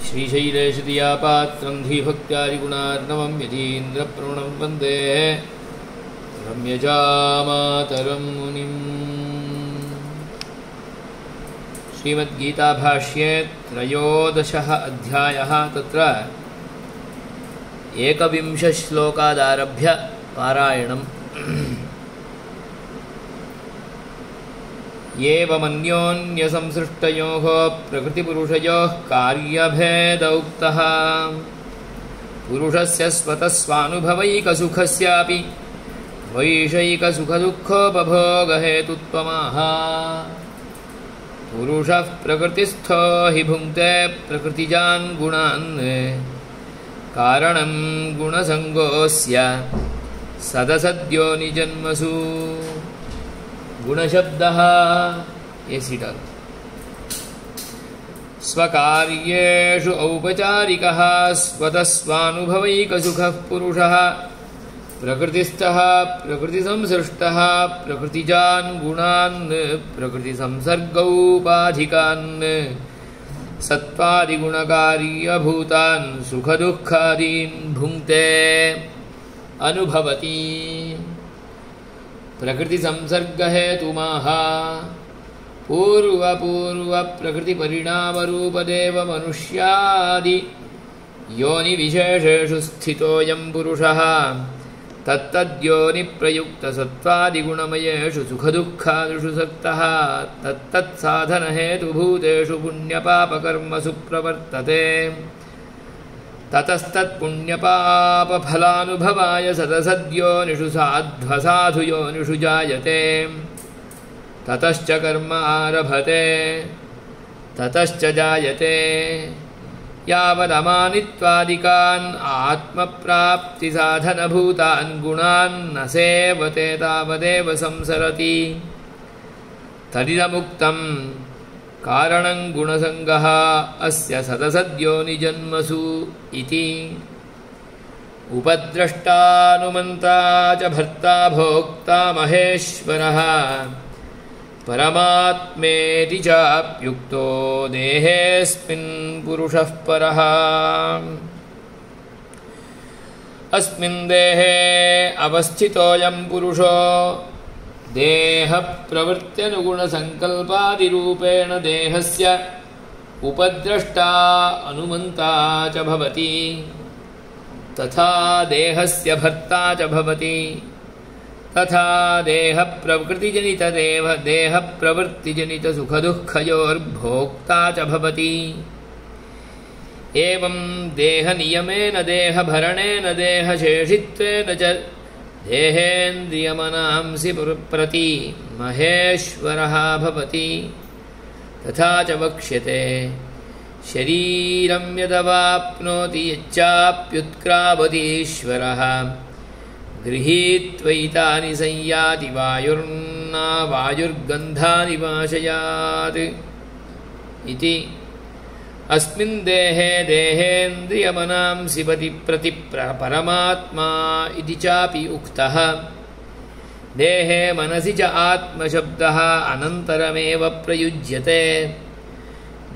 श्रीशैलेशदियापात्रं धीभक्त्यादिगुणार्णवं यतीन्द्रप्रवणं वन्दे रम्यजामातरं मुनिम्। श्रीमद्गीताभाष्ये त्रयोदशः अध्यायः। तत्र 21 श्लोकादारभ्य पारायणम्। एवमन्योन्यसंसृष्टयोः प्रकृतिपुरुषयोः कार्यभेद उक्तः। पुरुषस्य स्वतः स्वानुभवैकसुखस्यापि वैषयिकसुखदुःखोपभोगहेतुत्वमाह। पुरुषः प्रकृतिस्थो हि भुङ्क्ते प्रकृतिजान् गुणान् कारणं गुणसङ्गोऽस्य सदसद्योनिजन्मसु। गुणशब्दः एसिटल स्वकार्येषु औपचारिकः स्वतः स्वानुभवैकसुखः पुरुषः प्रकृतिस्थः प्रकृतिसंसृष्टः प्रकृतिजान् गुणान् प्रकृतिसंसर्गौपाधिकान् सत्त्वादिगुणकार्यभूतान् सुखदुःखादीन् भुङ्क्ते अनुभवति। प्रकृतिसंसर्गहेतुमाह। पूर्वप्रकृतिपरिणामरूपदेव मनुष्यादि योनिविशेषेषु स्थितोऽयं पुरुषः तत्तद्योनिप्रयुक्तसत्त्वादिगुणमयेषु सुखदुःखादिषु सक्तः तत्तत्साधनहेतुभूतेषु पुण्यपापकर्मसु प्रवर्तते। ततस्तत्पुण्यपापफलानुभवाय सदसद्योनिषु साध्वसाधुयोनिषु जायते। ततश्च कर्म आरभते ततश्च जायते। यावदमानित्वादिकान् आत्मप्राप्तिसाधनभूतान् गुणान् न सेवते तावदेव संसरति। तदिदमुक्तं कारणं गुणसङ्गः अस्य सदसद्योनिजन्मसु इति। उपद्रष्टानुमन्ता च भर्ता भोक्ता महेश्वरः परमात्मेति चाप्युक्तो देहेऽस्मिन् पुरुषः परः। अस्मिन् देहे अवस्थितोऽयं पुरुषो देहप्रवृत्त्यनुगुणसङ्कल्पादिरूपेण देहस्य उपद्रष्टा अनुमन्ता च भवति तथा देहस्य भर्ता च भवति तथा देहप्रवृत्तिजनितसुखदुःखयोर्भोक्ता च भवति। एवं देहनियमेन देहभरणेन देहशेषित्वेन च देहेन्द्रियमनांसि प्रति महेश्वरः भवति। तथा च वक्ष्यते शरीरं यदवाप्नोति यच्चाप्युत्क्रामतीश्वरः गृहीत्वैतानि संयाति वायुर्गन्धानि वाशयात् इति। अस्मिन् देहे देहेन्द्रियमनांसि प्रति परमात्मा इति चापि उक्तः। देहे मनसि च आत्मशब्दः अनन्तरमेव प्रयुज्यते।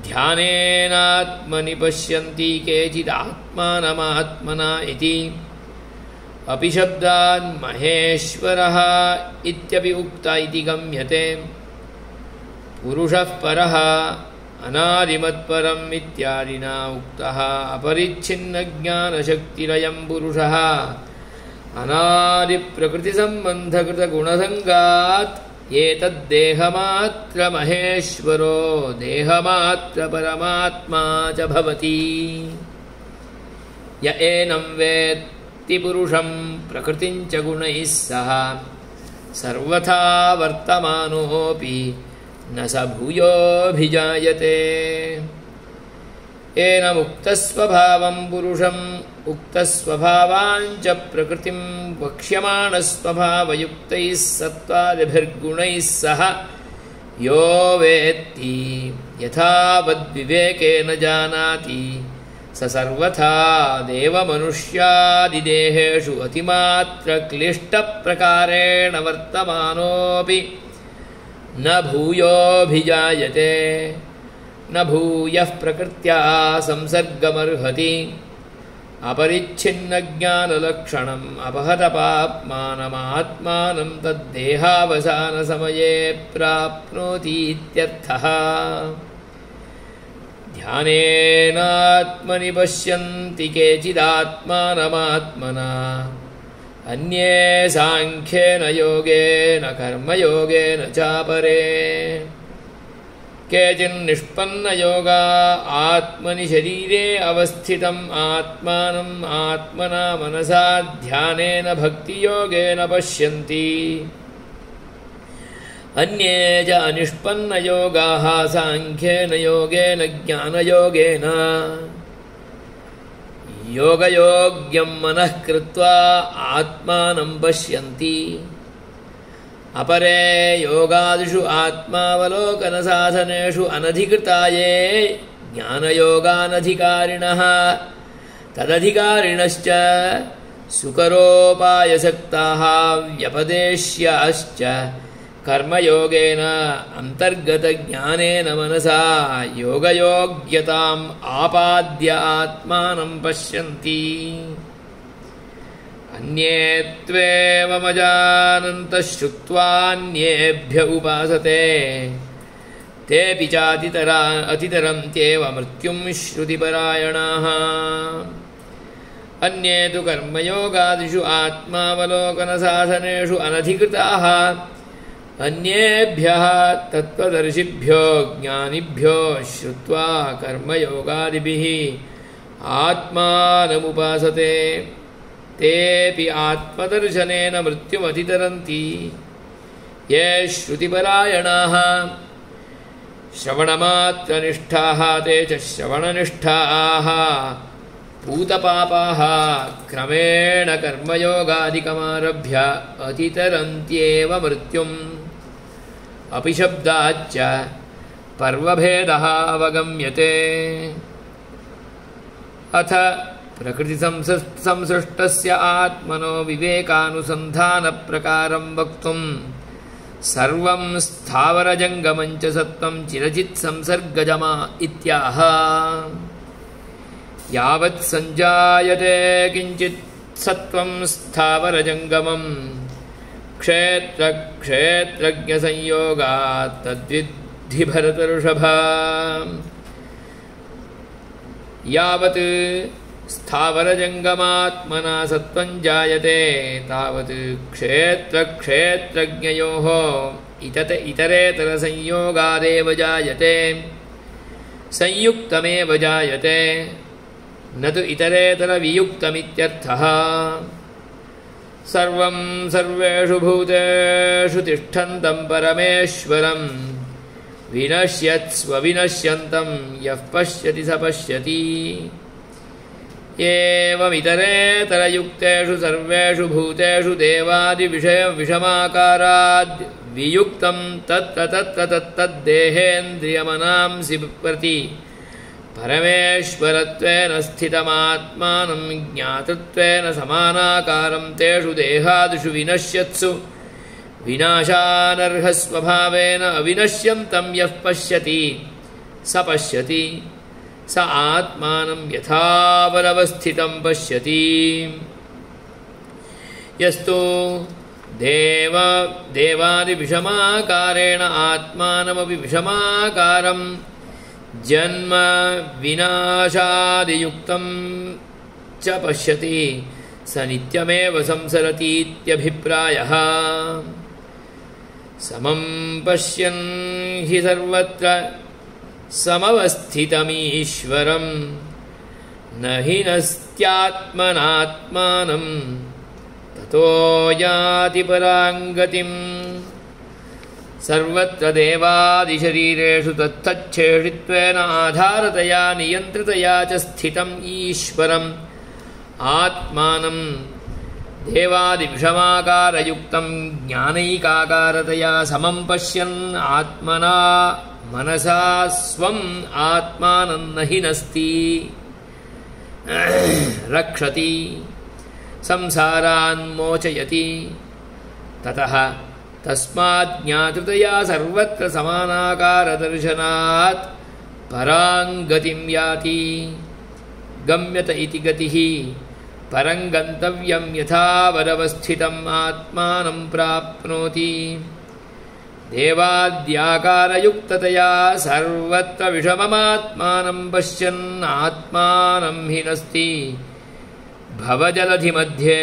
ध्यानेनात्मनि पश्यन्ति केचिदात्मानमात्मना इति। अपि शब्दान् महेश्वरः इत्यपि उक्त इति गम्यते। पुरुषः परः अनादिमत्परम् इत्यादिना उक्तः। अपरिच्छिन्नज्ञानशक्तिरयं पुरुषः अनादिप्रकृतिसम्बन्धकृतगुणसङ्गात् एतद्देहमात्रमहेश्वरो देहमात्रपरमात्मा च भवति। य एनं वेत्ति पुरुषं प्रकृतिं च गुणैः सह सर्वथा वर्तमानोऽपि न स भूयोऽभिजायते। येन मुक्तस्वभावं पुरुषम् उक्तस्वभावाञ्च प्रकृतिं वक्ष्यमाणस्वभावयुक्तैः सत्त्वादिभिर्गुणैः सह यो वेत्ति यथावद्विवेकेन जानाति स सर्वथा देवमनुष्यादिदेहेषु अतिमात्रक्लिष्टप्रकारेण वर्तमानोऽपि न भूयोऽभिजायते। न भूयः प्रकृत्या संसर्गमर्हति अपरिच्छिन्नज्ञानलक्षणम् अपहतपाप्मानमात्मानं तद्देहावसानसमये प्राप्नोतीत्यर्थः। ध्यानेनात्मनि पश्यन्ति केचिदात्मानमात्मना अन्ये साङ्ख्येन योगेन कर्मयोगेन चापरे। केचिन्निष्पन्नयोगा आत्मनि शरीरे अवस्थितम् आत्मानम् आत्मना मनसा ध्यानेन भक्तियोगेन पश्यन्ति। अन्ये च अनिष्पन्नयोगाः साङ्ख्येन योगेन ज्ञानयोगेन योगयोग्यं मनः कृत्वा आत्मानं पश्यन्ति। अपरे योगादिषु आत्मावलोकनसाधनेषु अनधिकृता ये ज्ञानयोगानधिकारिणः तदधिकारिणश्च सुकरोपायसक्ताः व्यपदेश्याश्च कर्मयोगेन अन्तर्गतज्ञानेन मनसा योगयोग्यताम् आपाद्य आत्मानं पश्यन्ति। अन्ये त्वेवमजानन्तः श्रुत्वान्येभ्य उपासते तेऽपि चातितरन्त्येव मृत्युं श्रुतिपरायणाः। अन्ये तु कर्मयोगादिषु आत्मावलोकनसाधनेषु अनधिकृताः अन्येभ्यः तत्त्वदर्शिभ्यो ज्ञानिभ्यो श्रुत्वा कर्मयोगादिभिः आत्मानमुपासते तेऽपि आत्मदर्शनेन मृत्युमतितरन्ति। ये श्रुतिपरायणाः श्रवणमात्रनिष्ठाः ते च श्रवणनिष्ठाः पूतपापाः क्रमेण कर्मयोगादिकमारभ्य अतितरन्त्येव मृत्युम्। अपि शब्दाच्च पर्वभेदः अवगम्यते। अथ प्रकृतिसंसृष्टस्य आत्मनो विवेकानुसन्धानप्रकारं वक्तुं सर्वं स्थावरजङ्गमं च सत्त्वं चिरचित् संसर्गजमा इत्याह। यावत् सञ्जायते किञ्चित् सत्त्वं स्थावरजङ्गमं क्षेत्रक्षेत्रज्ञसंयोगात् तद्विद्धि भरतऋषभ। यावत् स्थावरजङ्गमात्मना सत्त्वं जायते तावत् क्षेत्रक्षेत्रज्ञयोः इतरेतरसंयोगादेव जायते संयुक्तमेव जायते न तु इतरेतरवियुक्तमित्यर्थः। सर्वं सर्वेषु भूतेषु तिष्ठन्तं परमेश्वरं विनश्यत्स्वविनश्यन्तं यः पश्यति स पश्यति। एवमितरेतरयुक्तेषु सर्वेषु भूतेषु देवादिविषयविषमाकाराद् वियुक्तं तत्र तत्तद्देहेन्द्रियमनांसि प्रति परमेश्वरत्वेन स्थितमात्मानं ज्ञातृत्वेन समानाकारं तेषु देहादिषु विनश्यत्सु विनाशानर्हस्वभावेन अविनश्यन्तं यः पश्यति स पश्यति स आत्मानं यथावदवस्थितं पश्यति। यस्तु देवादिविषमाकारेण आत्मानमपि विषमाकारं जन्म विनाशादियुक्तं च पश्यति स नित्यमेव संसरतीत्यभिप्रायः। समं पश्यन् हि सर्वत्र समवस्थितमीश्वरं न हि नस्त्यात्मनात्मानं ततो याति पराङ्गतिम्। सर्वत्र देवादिशरीरेषु तत्तच्छेषित्वेन आधारतया नियन्त्रितया च स्थितम् ईश्वरम् आत्मानं देवादिविषमाकारयुक्तं ज्ञानैकाकारतया समं पश्यन् आत्मना मनसा स्वम् आत्मानं न हि नस्ति रक्षति संसारान्मोचयति। ततः तस्मात् ज्ञातृतया सर्वत्र समानाकारदर्शनात् पराङ्गतिं याति। गम्यत इति गतिः परं गन्तव्यं यथा वरवस्थितम् आत्मानं प्राप्नोति। देवाद्याकारयुक्ततया सर्वत्र विषममात्मानं पश्यन् आत्मानं हि नस्ति भवजलधिमध्ये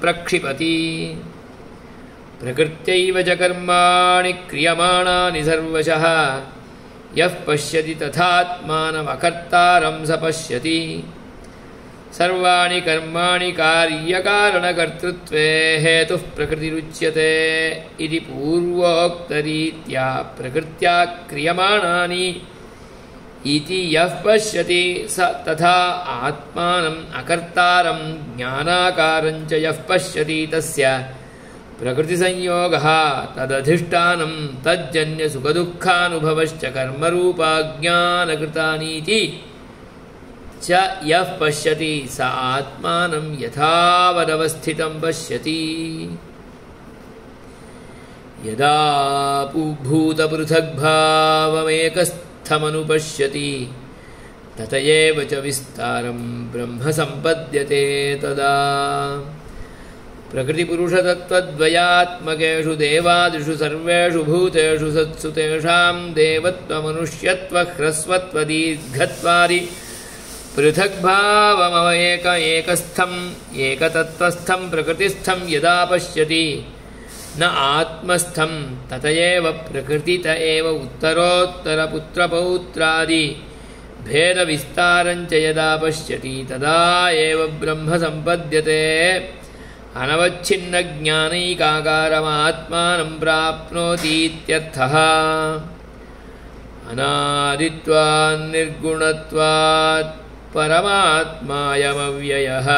प्रक्षिपति। प्रकृत्यैव च कर्माणि क्रियमाणानि सर्वशः यः पश्यति तथात्मानमकर्तारं स पश्यति। सर्वाणि कर्माणि कार्यकारणकर्तृत्वे हेतुः प्रकृतिरुच्यते इति पूर्वोक्तरीत्या प्रकृत्या क्रियमाणानि इति यः पश्यति स तथा आत्मानम् अकर्तारं ज्ञानाकारं च यः पश्यति तस्य प्रकृतिसंयोगः तदधिष्ठानं तज्जन्यसुखदुःखानुभवश्च कर्मरूपाज्ञानकृतानीति च यः पश्यति स आत्मानं यथावदवस्थितं पश्यति। यदा भूतपृथग्भावमेकस्थमनुपश्यति तत एव च विस्तारं ब्रह्म सम्पद्यते तदा। प्रकृतिपुरुषतत्त्वद्वयात्मकेषु देवादिषु सर्वेषु भूतेषु सत्सु तेषां देवत्वमनुष्यत्वह्रस्वत्वदीर्घत्वादि पृथग्भावमेकस्थम् एकतत्त्वस्थं प्रकृतिस्थं यदा पश्यति न आत्मस्थं तत एव प्रकृतित एव उत्तरोत्तरपुत्रपौत्रादि भेदविस्तारं च यदा पश्यति तदा एव ब्रह्म सम्पद्यते। अनवच्छिन्नज्ञानैकाकारमात्मानं प्राप्नोतीत्यर्थः। अनादित्वान् निर्गुणत्वात् परमात्मायमव्ययः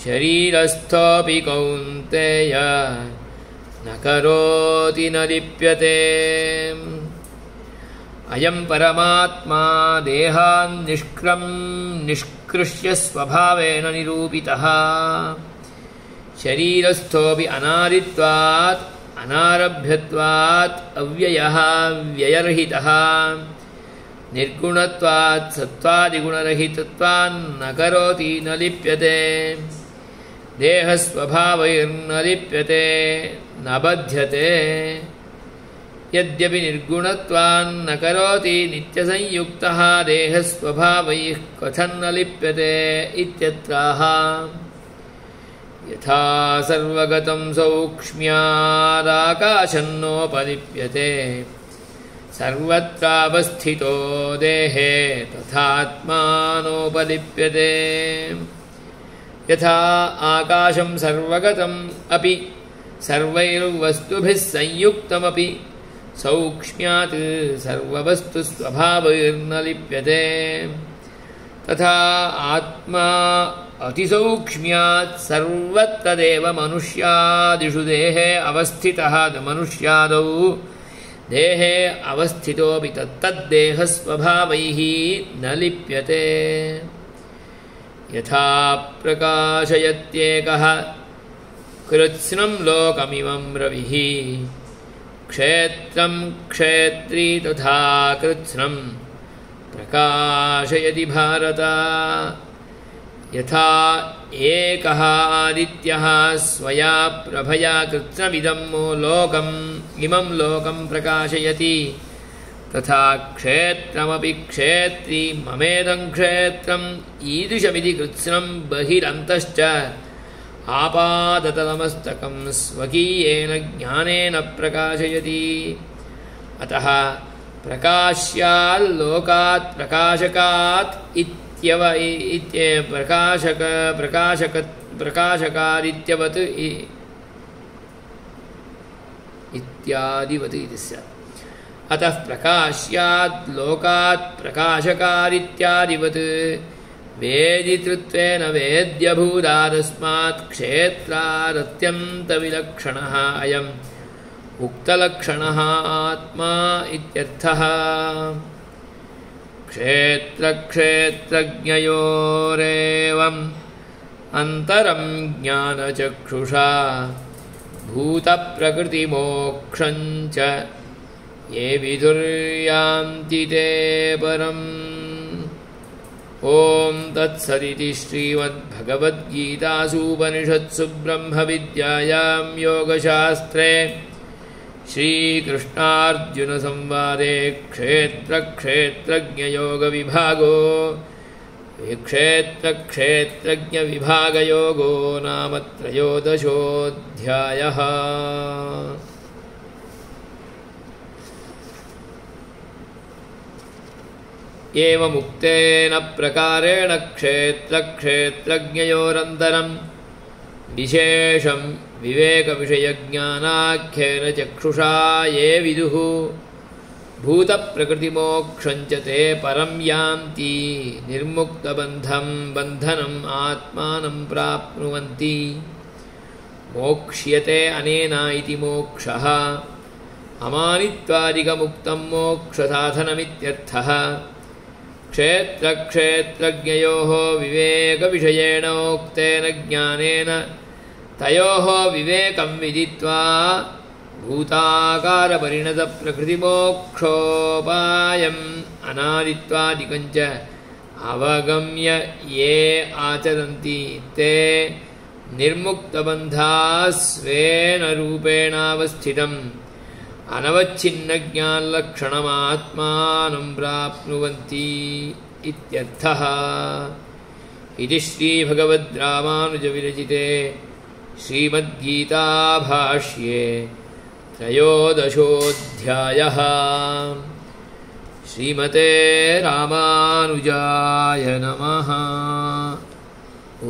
शरीरस्थोऽपि कौन्तेय न करोति न लिप्यते। अयं परमात्मा देहान् निष्कृष्य स्वभावेन निरूपितः। शरीरस्थोऽपि अनादित्वात् अनारभ्यत्वात् अव्ययः व्ययरहितः निर्गुणत्वात् सत्त्वादिगुणरहितत्वान् न करोति न लिप्यते। देहस्वभावैर्न लिप्यते न बध्यते। यद्यपि निर्गुणत्वान् न करोति नित्यसंयुक्तः देहस्वभावैः कथं न लिप्यते इत्यत्राह। यथा सर्वगतं सौक्ष्म्यादाकाशन्नोपलिप्यते सर्वत्रावस्थितो देहे तथात्मानोपलिप्यते। यथा आकाशं सर्वगतम् अपि सर्वैर्वस्तुभिः संयुक्तमपि सौक्ष्म्यात् सर्ववस्तुस्वभावैर्न लिप्यते तथा आत्मा अतिसौक्ष्म्यात् सर्वत्र देव मनुष्यादिषु देहे अवस्थितः। मनुष्यादौ देहे अवस्थितोऽपि तत्तद्देहस्वभावैः न लिप्यते। यथा प्रकाशयत्येकः कृत्स्नं लोकमिमं रविः क्षेत्रं क्षेत्री तथा कृत्स्नं प्रकाशयति भारत। यथा एकः आदित्यः स्वया प्रभया कृत्स्नमिदं इमं लोकं प्रकाशयति तथा क्षेत्रमपि क्षेत्री ममेदं क्षेत्रम् ईदृशमिति कृत्स्नं बहिरन्तश्च आपादतलमस्तकं स्वकीयेन ज्ञानेन प्रकाशयति। अतः प्रकाश्याल्लोकात् प्रकाशकात् प्रकाशकादित्यवत् इत्यादिवत् इति स्यात्। अतः प्रकाश्यात् लोकात् प्रकाशकादित्यादिवत् वेदितृत्वेन वेद्यभूदादस्मात् क्षेत्रादत्यन्तविलक्षणः अयम् उक्तलक्षणः आत्मा इत्यर्थः। क्षेत्रक्षेत्रज्ञयोरेवम् अन्तरं ज्ञानचक्षुषा भूतप्रकृतिमोक्षं च ये विदुर्यान्ति ते परम्। ॐ तत्सदिति श्रीमद्भगवद्गीतासूपनिषत्सु ब्रह्मविद्यायां योगशास्त्रे श्रीकृष्णार्जुनसंवादे क्षेत्रक्षेत्रज्ञयोगविभागो क्षेत्रक्षेत्रज्ञविभागयोगो नाम त्रयोदशोऽध्यायः। एवमुक्तेन प्रकारेण क्षेत्रक्षेत्रज्ञयोरन्तरं विशेषं विवेकविषयज्ञानाख्येन चक्षुषा ये विदुः भूतप्रकृतिमोक्षं च ते परं यान्ति निर्मुक्तबन्धं बन्धनम् आत्मानं प्राप्नुवन्ति। मोक्ष्यते अनेन इति मोक्षः अमानित्वादिकमुक्तं मोक्षसाधनमित्यर्थः। क्षेत्रक्षेत्रज्ञयोः विवेकविषयेण उक्तेन ज्ञानेन तयोः विवेकं विदित्वा भूताकारपरिणतप्रकृतिमोक्षोपायम् अनादित्वादिकं च अवगम्य ये आचरन्ति ते निर्मुक्तबन्धाः स्वेन रूपेणावस्थितम् अनवच्छिन्नज्ञानलक्षणमात्मानं प्राप्नुवन्ति इत्यर्थः। इति श्रीभगवद्रामानुजविरचिते श्रीमद्गीताभाष्ये त्रयोदशोऽध्यायः। श्रीमते रामानुजाय नमः। ॐ